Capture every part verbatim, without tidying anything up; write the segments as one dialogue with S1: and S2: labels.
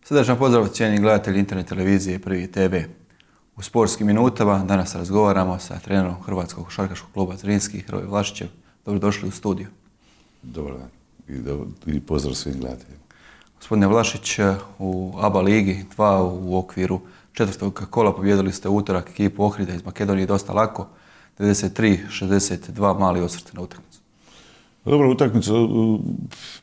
S1: Srdačan pozdrav cijenjeni gledatelji internet televizije Prvi te ve. U sportskim minutama danas razgovaramo sa trenerom Hrvatskog košarkaškog kluba Zrinski, Hrvoje Vlašićem. Dobrodošli u studiju.
S2: Dobar dan i, do, i pozdrav svim gledateljima.
S1: Gospodine Vlašić, u A B A ligi dva u okviru četvrtog kola pobjedili ste utorak ekipu Ohrida iz Makedonije dosta lako, devedeset tri šezdeset dva, mali osvrt na utakmicu.
S2: Dobro, utakmicu,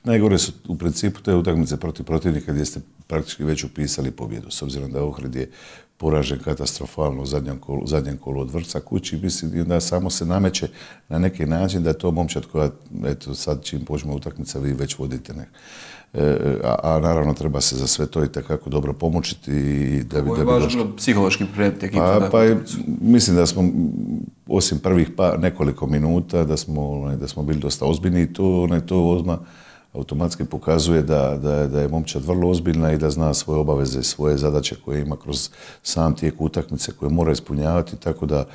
S2: najgore su u principu te utakmice protiv protivnika gdje ste praktički već upisali pobjedu, s obzirom da Ohrid je poražen katastrofalno u zadnjem kolu, zadnjem kolu od Vrca kući, mislim da samo se nameće na neki način da je to momčad koja, eto sad čim počne utakmica vi već vodite nek. E, a, a naravno treba se za sve to i takako dobro pomoćiti i da bi...
S1: Ovo je važno psihološki pripremiti ekipu.
S2: Pa, pa je, mislim da smo, osim prvih pa nekoliko minuta, da smo, da smo bili dosta ozbiljni i to, ne, to odmah automatski pokazuje da, da, da je momčad vrlo ozbiljna i da zna svoje obaveze, svoje zadaće koje ima kroz sam tijek utakmice koje mora ispunjavati, tako da,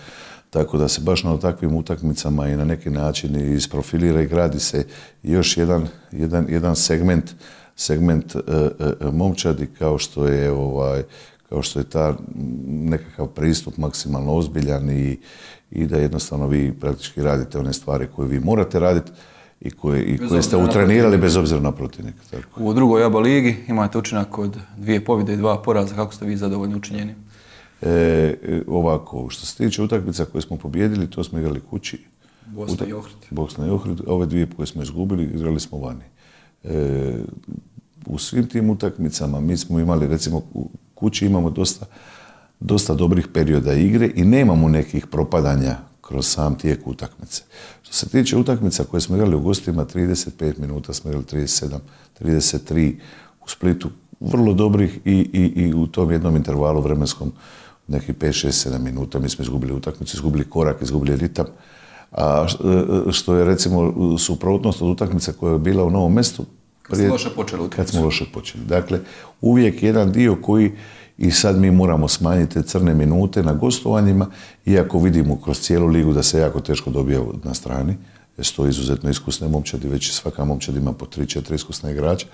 S2: tako da se baš na takvim utakmicama i na neki način isprofilira i gradi se još jedan, jedan, jedan segment, segment e, e, momčadi kao što je ovaj, kao što je ta nekakav pristup maksimalno ozbiljan i, i da jednostavno vi praktički radite one stvari koje vi morate raditi i koje, i koje ste utrenirali bez obzira na protivnika. Tako.
S1: U drugoj A B A ligi imate učinak od dvije pobjede i dva poraza. Kako ste vi zadovoljni učinjeni?
S2: E, ovako, što se tiče utakmica koje smo pobjedili, to smo igrali kući.
S1: Bosna i Ohrid.
S2: Bosna i Ohrid. Ove dvije koje smo izgubili, igrali smo vani. E, u svim tim utakmicama mi smo imali, recimo, u kući imamo dosta, dosta dobrih perioda igre i nemamo nekih propadanja kroz sam tijek utakmice. Što se tiče utakmica koje smo igrali u gostima, trideset pet minuta smo igrali, trideset sedam, trideset tri u Splitu, vrlo dobrih i, i, i u tom jednom intervalu vremenskom nekih pet, šest, sedam minuta mi smo izgubili utakmicu, izgubili korak, izgubili ritam. A što je recimo suprotnost od utakmice koja je bila u Novom Mestu,
S1: kad smo loše počeli utakmicu.
S2: Kad smo loše počeli. Dakle, uvijek jedan dio koji i sad mi moramo smanjiti te crne minute na gostovanjima, iako vidimo kroz cijelu ligu da se jako teško dobija na strani, jer su to izuzetno iskusne momčadi, već svaka momčad ima po tri četiri iskusne igrača,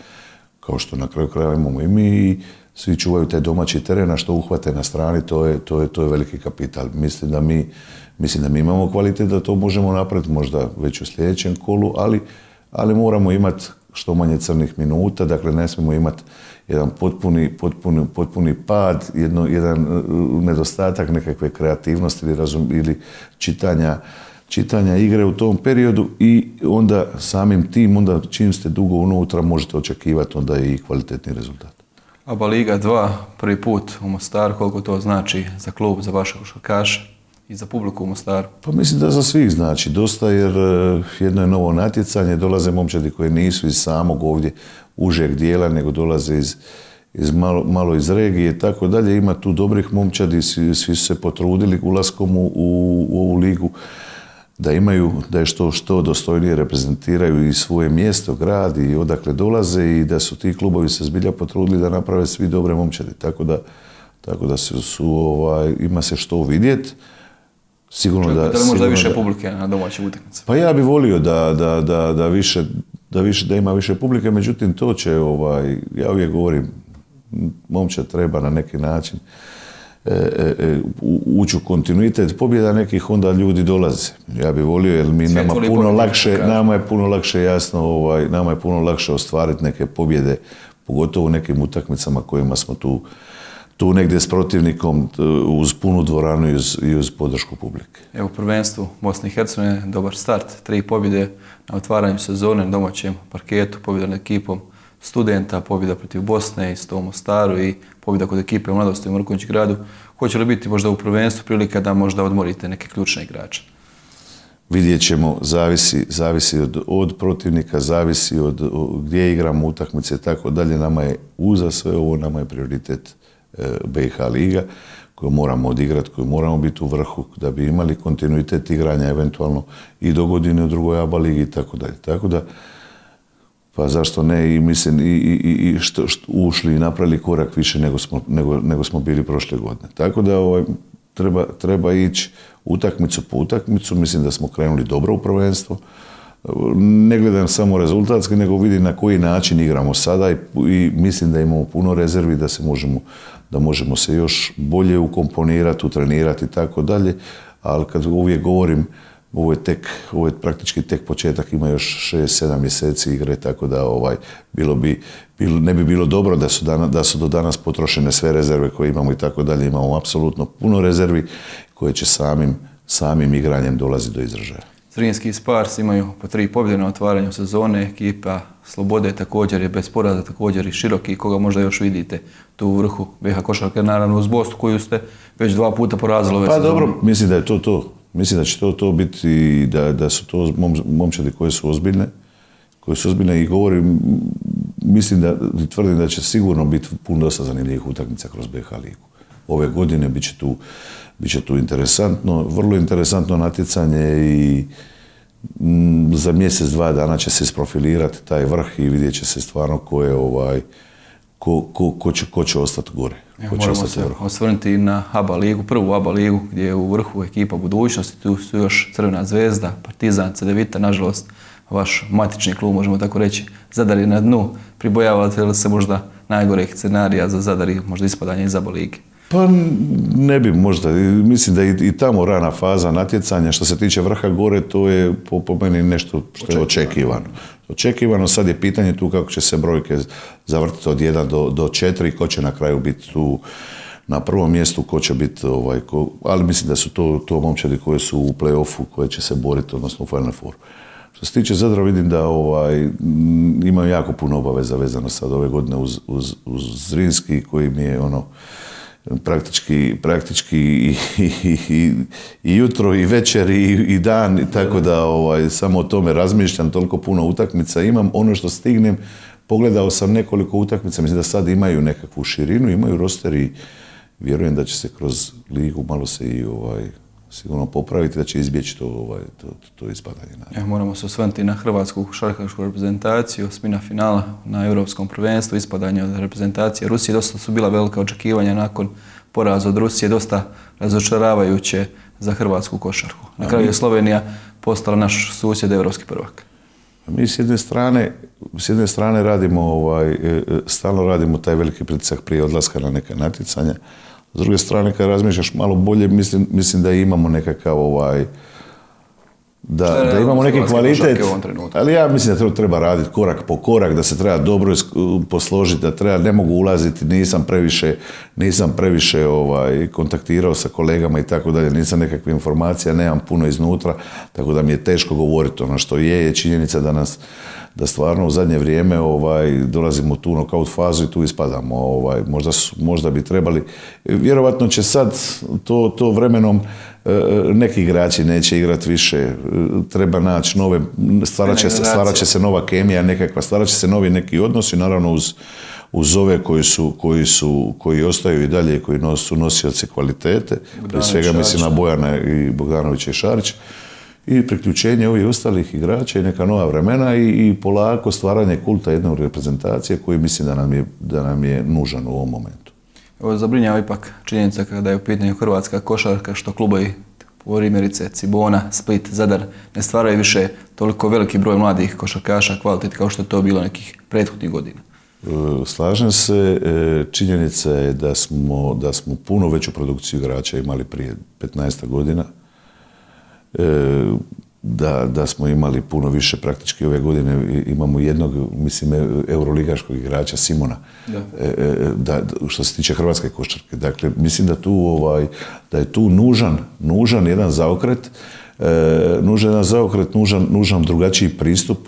S2: kao što na kraju krajeva imamo i mi, i svi čuvaju taj domaći teren, a što uhvate na strani, to je, to je, to je veliki kapital. Mislim da, mi, mislim da mi imamo kvalitet da to možemo napraviti, možda već u sljedećem kolu, ali, ali moramo imati što manje crnih minuta, dakle ne smijemo imati jedan potpuni, potpuni, potpuni pad, jedno, jedan nedostatak nekakve kreativnosti ili, razum, ili čitanja, čitanja igre u tom periodu i onda samim tim, onda čim ste dugo unutra možete očekivati onda i kvalitetni rezultat.
S1: A B A liga dva, prvi put u Mostaru, koliko to znači za klub, za vaše košarkaše i za publiku u Mostaru?
S2: Pa mislim da za svih znači dosta, jer jedno je novo natjecanje, dolaze momčadi koji nisu iz samog ovdje užeg dijela, nego dolaze iz, iz malo, malo iz regije i tako dalje. Ima tu dobrih momčadi, svi, svi su se potrudili ulaskom u, u, u ovu ligu da imaju, da je što, što dostojnije reprezentiraju i svoje mjesto, grad i odakle dolaze i da su ti klubovi se zbilja potrudili da naprave svi dobre momčadi. Tako da, tako da su, su ovaj, ima se što vidjeti. Sigurno da,
S1: da li možda više
S2: da,
S1: publike na domaćim utakmicama?
S2: Pa ja bih volio da, da, da, da, više, da, više, da ima više publike, međutim to će, ovaj, ja uvijek govorim, momčad treba na neki način e, e, ući u kontinuitet pobjeda nekih, onda ljudi dolaze. Ja bih volio, jer mi nama puno lakše, nama je puno lakše jasno, ovaj, nama je puno lakše ostvariti neke pobjede, pogotovo u nekim utakmicama kojima smo tu tu negdje s protivnikom uz punu dvoranu i uz, i uz podršku publike.
S1: Evo, prvenstvu Bosne i Hercegovine, dobar start, tri pobjede na otvaranju sezone na domaćem parketu, pobjeda nad ekipom Studenta, pobjeda protiv Bosne i sto u Mostaru i pobjeda kod ekipe u Mladosti u Mrkonjić gradu. Hoće li biti možda u prvenstvu prilika da možda odmorite neke ključne igrače?
S2: Vidjet ćemo, zavisi, zavisi od, od protivnika, zavisi od, od gdje igramo utakmice i tako dalje. Nama je uza sve ovo, nama je prioritet B i H liga koju moramo odigrati, koju moramo biti u vrhu da bi imali kontinuitet igranja eventualno i do godine u drugoj A B A ligi i tako dalje. Tako da, pa zašto ne i mislim i, i, i što, što ušli i napravili korak više nego smo, nego, nego smo bili prošle godine. Tako da ovaj, treba, treba ići utakmicu po utakmicu, mislim da smo krenuli dobro u prvenstvo, ne gledam samo rezultatski, nego vidim na koji način igramo sada i, i mislim da imamo puno rezervi, da se možemo, da možemo se još bolje ukomponirati, utrenirati i tako dalje, ali kad uvijek govorim, ovo je tek, ovo je praktički tek početak, ima još šest sedam mjeseci igre, tako da ovaj, bilo bi, bilo, ne bi bilo dobro da su, dana, da su do danas potrošene sve rezerve koje imamo i tako dalje. Imamo apsolutno puno rezervi koje će samim, samim igranjem dolaziti do izražaja.
S1: Zrinski i Spars imaju po tri pobjede na otvaranju sezone, ekipa Slobode također je bez poraza, također i Široki, koga možda još vidite tu u vrhu B iH košarke, naravno uz Bosnu koju ste već dva puta porazili ove
S2: pa
S1: sezone.
S2: Dobro, mislim da je to to. Mislim da će to, to biti i da, da su to mom, momčadi koje su ozbiljne, koje su ozbiljne i govorim, mislim da, tvrdim da će sigurno biti puno dosta zanimljivih utakmica kroz B iH ligu. Ove godine bit će tu, bit će tu interesantno, vrlo interesantno natjecanje i m, za mjesec, dva dana će se isprofilirati taj vrh i vidjet će se stvarno ko je ovaj, ko, ko, ko, će, ko će ostati gore.
S1: Ko će Moramo se osvrnuti na A B A ligu, prvu A B A ligu gdje je u vrhu ekipa budućnosti, tu su još Crvena zvezda, Partizan, Cedevita, nažalost vaš matični klub, možemo tako reći, Zadar je na dnu. Pribojavate li se možda najgorih scenarija za Zadar i možda ispadanje iz A B A lige?
S2: Pa ne bi možda, mislim da je i tamo rana faza natjecanja, što se tiče vrha gore, to je po, po meni nešto što je očekivano. Očekivano, sad je pitanje tu kako će se brojke zavrtiti od jedan do četiri, ko će na kraju biti tu na prvom mjestu, ko će biti, ovaj, ko, ali mislim da su to, to momčadi koje su u play-offu, koje će se boriti, odnosno u Final Fouru. Što se tiče Zadra, vidim da ovaj, imaju jako puno obaveza vezano sad ove godine uz, uz, uz Zrinski, koji mi je ono, praktički, praktički i, i, i, i jutro i večer i, i dan, i tako da ovaj, samo o tome razmišljam, toliko puno utakmica imam. Ono što stignem, pogledao sam nekoliko utakmica, mislim da sad imaju nekakvu širinu, imaju roster i vjerujem da će se kroz ligu malo se i ovaj, sigurno popraviti, da će izbjeći to, ovaj, to, to, to ispadanje.
S1: Ja, moramo se osvrnuti na hrvatsku košarkašku reprezentaciju, osmina finala na Europskom prvenstvu, ispadanje od reprezentacije Rusije. Dosta su bila velika očekivanja nakon poraza od Rusije, dosta razočaravajuće za hrvatsku košarku. Na kraju je Slovenija postala naš susjed, evropski prvak.
S2: Mi s jedne strane, s jedne strane radimo, ovaj, stalno radimo taj veliki pritisak prije odlaska na neka natjecanja. S druge strane, kad razmišljaš malo bolje, mislim, mislim da imamo nekakav ovaj, da, da imamo neki kvalitet, ali ja mislim da to treba raditi korak po korak, da se treba dobro posložiti, da treba, ne mogu ulaziti, nisam previše, nisam previše ovaj, kontaktirao sa kolegama i tako dalje, nisam nekakve informacija, nemam puno iznutra, tako da mi je teško govoriti. Ono što je, je činjenica da nas, da stvarno u zadnje vrijeme ovaj, dolazimo u tu knockout fazu i tu ispadamo. Ovaj, možda, su, možda bi trebali, vjerovatno će sad to, to vremenom neki igrači neće igrati više, treba naći nove, stvarat će, stvarat će se nova kemija nekakva, stvarat će se novi neki odnosi, naravno uz, uz ove koji su, koji su, koji ostaju i dalje, koji su nosioci kvalitete, prije svega mislim na Bojana i Bogdanovića i Šarića, i priključenje ovih ostalih igrača i neka nova vremena i, i polako stvaranje kulta jedne reprezentacije koji mislim da nam je, da nam je nužan u ovom momentu.
S1: Ovo zabrinjava ipak činjenica kada je u pitanju hrvatska košarka, što klubovi primjerice Cibona, Split, Zadar ne stvaraju više toliko veliki broj mladih košarkaša kvalitet kao što je to bilo nekih prethodnih godina.
S2: Slažem se, činjenica je da smo, da smo puno veću produkciju igrača imali prije petnaest godina. Da, da smo imali puno više, praktički ove godine imamo jednog, mislim, euroligaškog igrača Simona, da. Da, što se tiče hrvatske košarke. Dakle, mislim da tu, ovaj, da je tu nužan, nužan jedan zaokret, e, nužan jedan zaokret, nužan, nužan drugačiji pristup,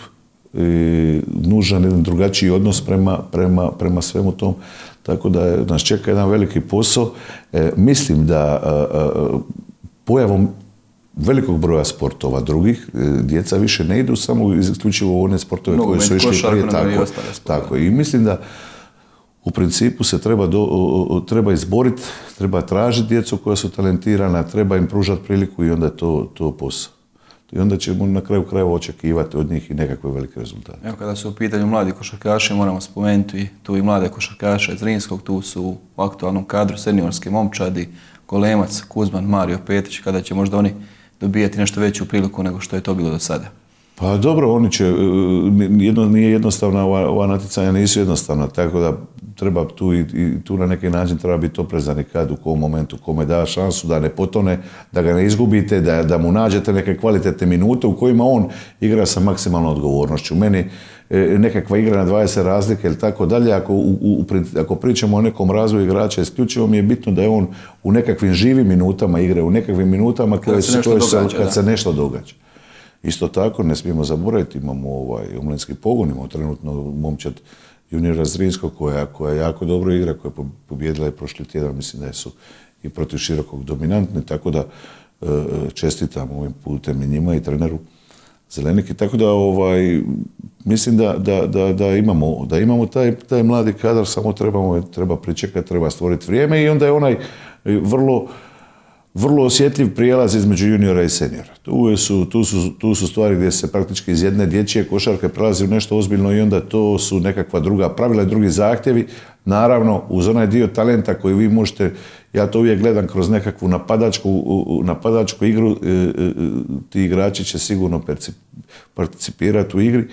S2: e, nužan jedan drugačiji odnos prema, prema, prema svemu tom. Tako da je, nas čeka jedan veliki posao. E, mislim da a, a, pojavom velikog broja sportova drugih, djeca više ne idu samo isključivo u one sportove koji su išli prije, tako, tako. I mislim da u principu se treba, do, treba izboriti, treba tražiti djecu koja su talentirana, treba im pružati priliku i onda je to, to posao. I onda ćemo na kraju krajeva očekivati od njih i nekakve velike rezultate.
S1: Evo, kada su u pitanju mladi košarkaši, moramo spomenuti tu i mlade košarkaše iz Zrinskog, tu su u aktualnom kadru seniorske momčadi, Golemac, Kuzman, Mario Petić, kada će možda oni dobijati nešto veću priliku nego što je to bilo do sada.
S2: Pa dobro, oni će, jedno, nije jednostavna, ova, ova natjecanja nisu jednostavna, tako da treba tu i, i tu na neki način treba biti oprezan i kad, u kom momentu, kome da šansu da ne potone, da ga ne izgubite, da, da mu nađete neke kvalitetne minute u kojima on igra sa maksimalnom odgovornošću. Meni e, nekakva igra na dvadeset razlike ili tako dalje, ako, u, u, ako pričamo o nekom razvoju igrača, isključivo mi je bitno da je on u nekakvim živim minutama igre, u nekakvim minutama koje se, koje se, događa, kad da. se nešto događa. Isto tako, ne smijemo zaboraviti, imamo ovaj omladinski pogon, imamo trenutno momčad juniora Zrinskog koja, koja jako dobro igra, koja je pobjedila i prošli tjedan, mislim da su i protiv Širokog dominantni, tako da e, čestitam ovim putem i njima i treneru Zeleniki, tako da ovaj, mislim da, da, da, da imamo, da imamo taj, taj mladi kadar, samo trebamo, treba pričekati, treba stvoriti vrijeme i onda je onaj vrlo vrlo osjetljiv prijelaz između juniora i seniora. Tu su, tu, su, tu su stvari gdje se praktički iz jedne dječje košarke prelazi u nešto ozbiljno i onda to su nekakva druga pravila i drugi zahtjevi. Naravno, uz onaj dio talenta koji vi možete, ja to uvijek gledam kroz nekakvu napadačku, napadačku igru, ti igrači će sigurno participirati u igri.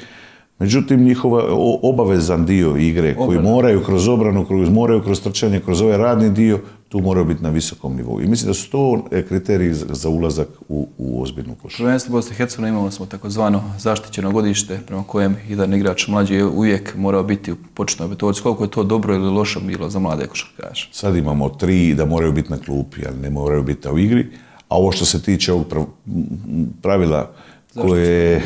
S2: Međutim, njihova obavezan dio igre koji moraju kroz obranu, kroz, moraju kroz trčanje, kroz ovaj radni dio, tu moraju biti na visokom nivou. I mislim da su to kriteriji za ulazak u, u ozbiljnu košarku.
S1: Prvenstvo Bosne i Hercegovine imali smo takozvano zaštićeno godište prema kojem jedan igrač mlađi je uvijek morao biti u početnoj petorci. Koliko je to dobro ili loše bilo za mlade košarkaše?
S2: Sad imamo tri da moraju biti na klupi, ali ne moraju biti u igri. A ovo što se tiče ovog pravila koje,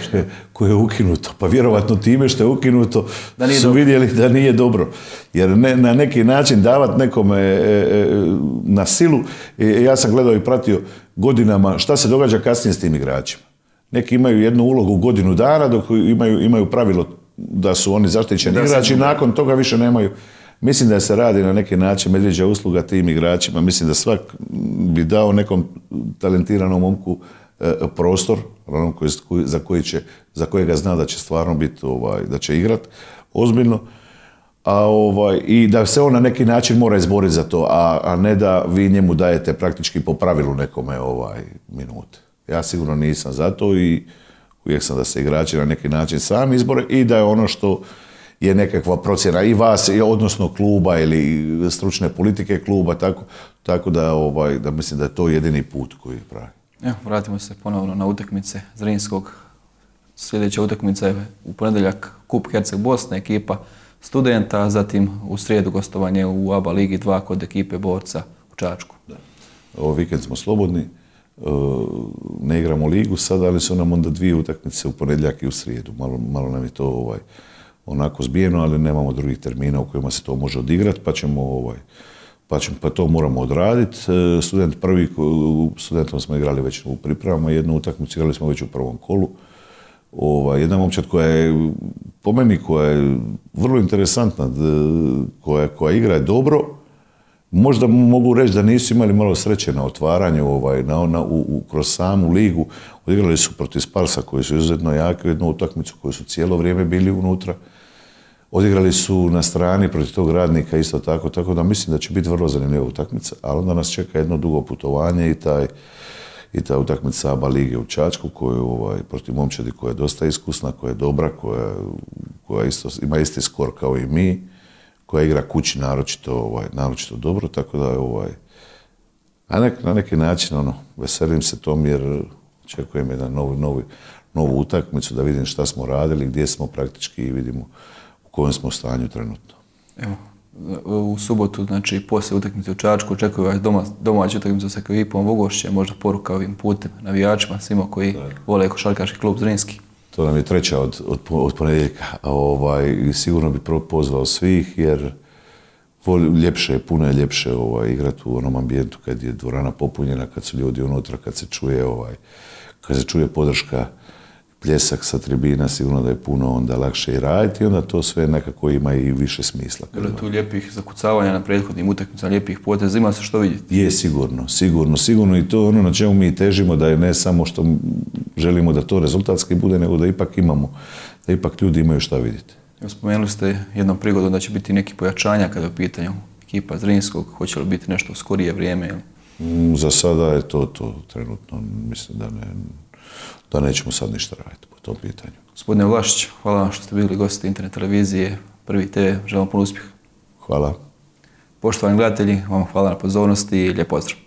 S2: koje je ukinuto, pa vjerovatno time što je ukinuto su dobro. Vidjeli da nije dobro. Jer ne, na neki način davati nekome e, e, na silu, e, ja sam gledao i pratio godinama šta se događa kasnije s tim igračima. Neki imaju jednu ulogu godinu dana dok imaju, imaju pravilo da su oni zaštićeni igrači i nakon toga više nemaju. Mislim da se radi na neki način medvjeđa usluga tim igračima. Mislim da svak bi dao nekom talentiranom momku prostor onom koji, za, koji će, za kojega zna da će stvarno biti, ovaj, da će igrat ozbiljno, a, ovaj, i da se on na neki način mora izboriti za to, a, a ne da vi njemu dajete praktički po pravilu nekome ovaj, minute. Ja sigurno nisam za to i uvijek sam da se igrači na neki način sami izbore i da je ono što je nekakva procjena i vas, odnosno kluba ili stručne politike kluba, tako, tako da, ovaj, da mislim da je to jedini put koji pravi.
S1: Evo, vratimo se ponovno na utakmice Zrinskog. Sljedeća utakmica je u ponedjeljak Kup Herceg Bosne, ekipa Studenta, zatim u srijedu gostovanje u A B A Ligi dva kod ekipe Borca u Čačku. Da.
S2: Ovo vikend smo slobodni, ne igramo ligu sad, ali su nam onda dvije utakmice u ponedjeljak i u srijedu. Malo, malo nam je to ovaj, onako zbijeno, ali nemamo drugih termina u kojima se to može odigrati, pa ćemo ovaj, Pa, ćemo, pa to moramo odraditi. Student prvi, studentom smo igrali već u pripremama, jednu utakmicu igrali smo već u prvom kolu. Ova, jedna momčad koja je, po meni, koja je vrlo interesantna, koja, koja igra dobro. Možda mogu reći da nisu imali malo sreće na otvaranju, ovaj, na, na, u, u, kroz samu ligu. Odigrali su protiv Sparsa koji su izuzetno jaki, jednu utakmicu koju su cijelo vrijeme bili unutra. Odigrali su na strani protiv tog Radnika isto tako, tako da mislim da će biti vrlo zanimljiva utakmica, ali onda nas čeka jedno dugo putovanje i, taj, i ta utakmica A B A Lige u Čačku koju, ovaj, protiv momčadi koja je dosta iskusna, koja je dobra, koja, koja isto, ima isti skor kao i mi, koja igra kući naročito, ovaj, naročito dobro, tako da je ovaj, a nek, na neki način ono, veselim se tom jer očekujem jedan novi, novi, novu utakmicu da vidim šta smo radili, gdje smo praktički i vidimo u kojem smo stanju trenutno.
S1: Evo, u subotu, znači poslije utakmice u Čačku, očekuju vas doma, domaću utakmicu sa ekipom Vogošće, možda poruka ovim putem navijačima, svima koji da. vole košarkaški klub Zrinski.
S2: To nam je treća od, od, od ponedjeljka. Ovaj, sigurno bi pozvao svih jer ljepše je, puno je ljepše ovaj, igrati u onom ambijentu kad je dvorana popunjena, kad su ljudi unutra, kad se čuje, ovaj, kad se čuje podrška, pljesak sa tribina, sigurno da je puno onda lakše i raditi i onda to sve nekako ima i više smisla.
S1: Bilo je tu lijepih zakucavanja na prethodnim utakmicama, lijepih poteza, ima se što vidjeti?
S2: Je, sigurno, sigurno, sigurno i to ono na čemu mi težimo da je ne samo što želimo da to rezultatski bude, nego da ipak imamo, da ipak ljudi imaju šta vidjeti.
S1: Evo, spomenuli ste jednom prigodom da će biti neki pojačanja kada je u pitanju ekipa Zrinskog, hoće li biti nešto u skorije vrijeme? Ili?
S2: Mm, za sada je to to trenutno, mislim da ne... da nećemo sad ništa raditi po tom pitanju.
S1: Gospodine Vlašić, hvala vam što ste bili gosti internet televizije Prvi te ve. Želim puno uspjeha.
S2: Hvala.
S1: Poštovani gledatelji, vam hvala na pozornosti i lijep pozdrav.